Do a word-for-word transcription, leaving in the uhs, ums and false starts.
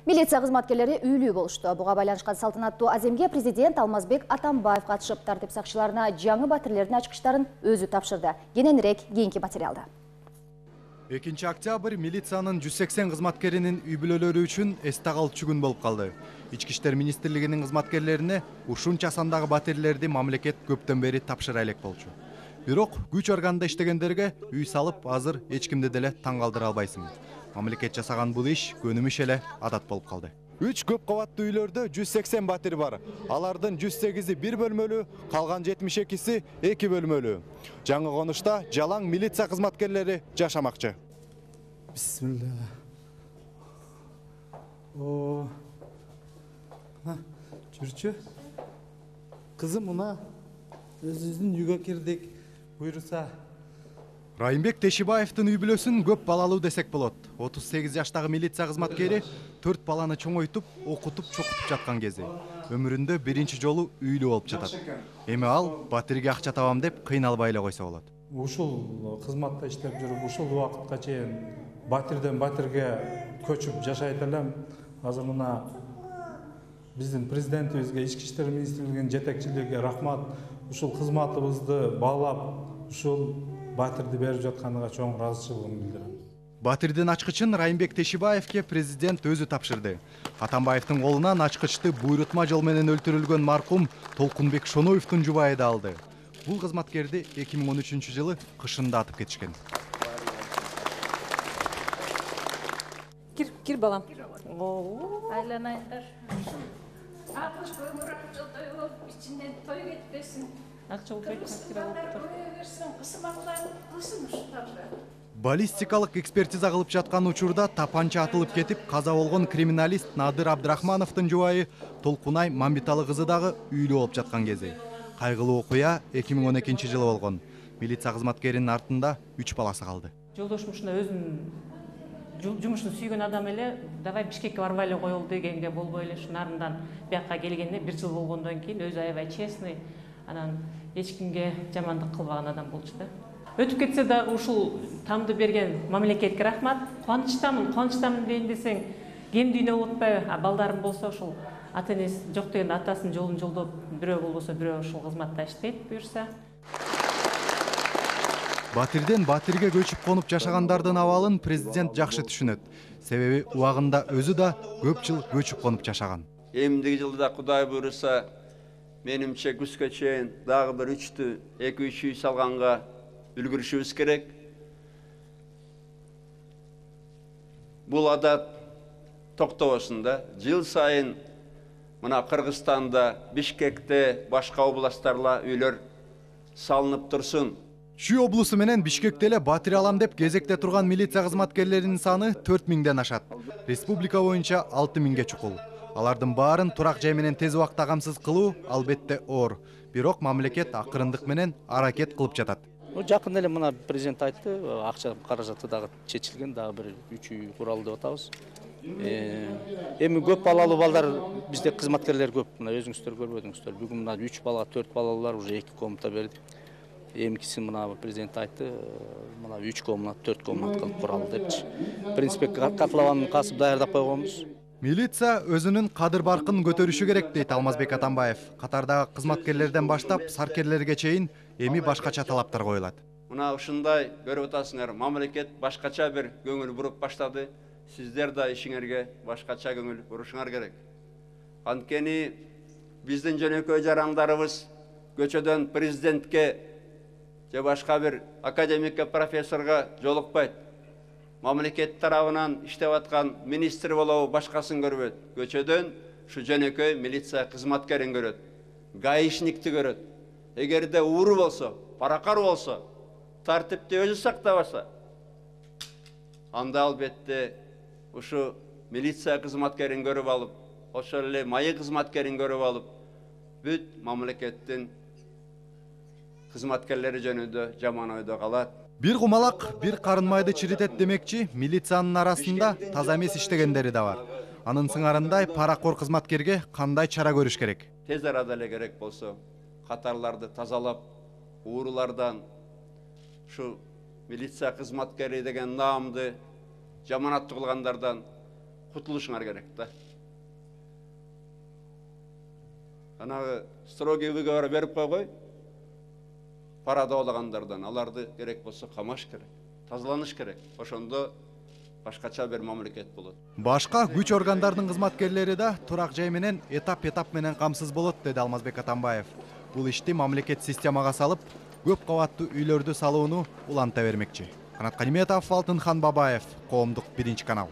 Милиция кызматкерлери үйлүү болушту. Буга байланышкан салтанаттуу аземге президент Алмазбек Атамбаев катышып, тартип сакчыларына жаңы батирлердин ачкычтарын өзү тапшырды. Кененирээк кийинки материалда. экинчи октябрь милициянын жүз сексен кызматкеринин үй бүлөлөрү үчүн эсте калчу күн болуп калды. Ички иштер министрлигинин кызматкерлерине ушунча сандагы батирлерди мамлекет көптөн бери тапшыра элек болчу. Бирок күч органында иштегендерге үй салып, азыр эч кимди деле таң калтыра албайсың. Мамлекет жасаган бул иш көнүмүш эле адат болуп калды. Үч көп кабаттуу үйлөрдө жүз сексен батир бар. Алардын жүз сегизи бир бөлмөлүү, калган жетимиш экиси эки бөлмөлүү. Жаңы конушта жалаң милиция кызматкерлери жашамакчы. Бисмилла. О. Жүрчү. Кызым мына өзүбүздүн үйгө кирдик. Буйруса. Райымбек Тешибаевдин үй бүлөсүн көп балалуу десек болот. отуз сегиз жаштагы милиция кызматкери төрт баланы чоңойтуп, окутуп, чокутуп жаткан кези. Өмүрүндө биринчи жолу үйлүү болуп жатат. Эми ал батирге акча табам деп кыйналбай эле койсо болот. Ушул кызматта иштеп жүрүп, ушул убакытка чейин батирден батирге көчүп жашайт элем. Азыр мына биздин президентибизге, ички иштер министрлигинин жетекчилиgiне рахмат. Ушул кызматыбызды баалап, ушул батирди берип жатканына чоң ыраазычылыгымды билдирем. Батирдин ачкычын Райымбек Тешибаевке президент өзү тапшырды. Атамбаевдин колунан ачкычты буйрутма жол менен өлтүрүлгөн маркум Толкунбек Шоноевдун жубайы да алды. Бул кызматкерди эки миң он үчүнчү жылы кышында атып кетишкен. Кир, кир балам. Айланайындар. алтымыш өмүр жылдай болуп, ичинен той кетпесин. Акча болуп Баллистикалык экспертиза кылып жаткан учурда тапанча атылып кетип, каза болгон криминалист Надыр Абдрахмановдун жубайы Толкунай Мамбиталы кызы дагы үйлүү болуп жаткан кези. Кайгылуу окуя эки миң он экинчи жылы болгон. Милиция кызматкеринин артында үч баласы калды. Жолдошум ушунда өзүнүн жумушун сүйгөн адам эле, давай Бишкекке барбай эле коелу дегенге болбой эле ушун нарындан бияка келгенде бир жыл болгондон кийин өзү аябай честный, анан эч кимге жамандык кылбаган адам болчу да. Өтүп кетсе дагы ушул тамды берген мамлекетке рахмат. Кубанычтамын, кубанычтамын дейин десең, кем дүйнө болуп атпайбы? А балдарым болсо ушул ата энеси жок дегенде атасынын жолун жолдоп, бирөө болбосо бирөө ушул кызматта иштейт буюрса. Батирден батирге көчүп конуп жашагандардын абалын президент жакшы түшүнөт. Себеби убагында өзү да көп жыл көчүп конуп жашаган. Эмдиги жылда Кудай буйруса, менимче күзгө чейин дагы бир үчтү, эки үч үй салганга үлгүрүшүбүз керек. Бул адат токтобосун да. Жыл сайын мына Кыргызстанда, Бишкекте, башка областтарда үйлөр салынып турсун. Чүй облусу менен Бишкекте эле батир алам деп кезекте турган милиция кызматкерлеринин саны төрт миңден ашат. Республика боюнча алты миңге чукул. Алардын баарын турак жай менен тез убакта камсыз кылуу албетте оор. Бирок мамлекет акырындык менен аракет кылып жатат. Жакын эле мына президент айтты, акча каражаты дагы чечилген, дагы бир үч үй куралы деп атабыз. Эми көп балалуу балдар бизде кызматкерлер көп. Мына өзүңүздөр көрбөдүңүздөр. Бүгүн мына үч бала, төрт балалуулар уже эки комната бердик. Эмикиси мына президент айтты, мына үч комната, төрт комната кылып куралы депчи. В принципе, котлованын касып даярдап койгонбуз. Милиция өзүнүн кадыр баркын көтөрүшү керек дейт Алмазбек Атамбаев. Катардагы кызматкерлерден баштап саркерлерге чейин эми башкача талаптар коюлат. Мына ушундай көрүп атасыңар, мамлекет башкача бир көңүл буруп баштады. Сиздер да ишиңерге башкача көңүл бурушуңар керек. Анткени биздин жөнөкөй жарандарыбыз көчөдөн президентке же башка бир академикке, профессорго жолукпайт. Мамлекет тарабынан иштеп аткан министр болобу, башкасын көрбөйт. Көчөдөн ушу жөнөкөй милиция кызматкерин көрөт. Гаишникти көрөт. Эгерде ууру болсо, паракар болсо, тартипти өзү сактабаса, анда албетте ушу милиция кызматкерин көрүп алып, ошол эле майы кызматкерин көрүп алып, бүт мамлекеттин кызматкерлери жөнүндө жаман ойдо калат. Бир кумалак, бир карын майды чиритет демекчи, милициянын арасында таза эмес иштегендери да бар. Анын сыңарындай паракор кызматкерге кандай чара көрүш керек? Тез арада эле керек болсо, катарларды тазалап, уурулардан, ушу милиция кызматкери деген наамды жаманаттуу кылгандардан кутулушуңар керек да. Анагы строгий выговор берип койгой, парадоолагандардан аларды керек болсо камаш керек, тазаланыш керек. Ошондо башкача бир мамлекет болот. Башка күч органдарынын кызматкерлери да турак жай менен этап-этап менен камсыз болот, деди Алмазбек Атамбаев. Бул ишти мамлекет системага салып, көп кабаттуу үйлөрдү салууну уланта бермекчи. Канат Каниметов, Алтынхан Бабаев, Коомдук биринчи канал.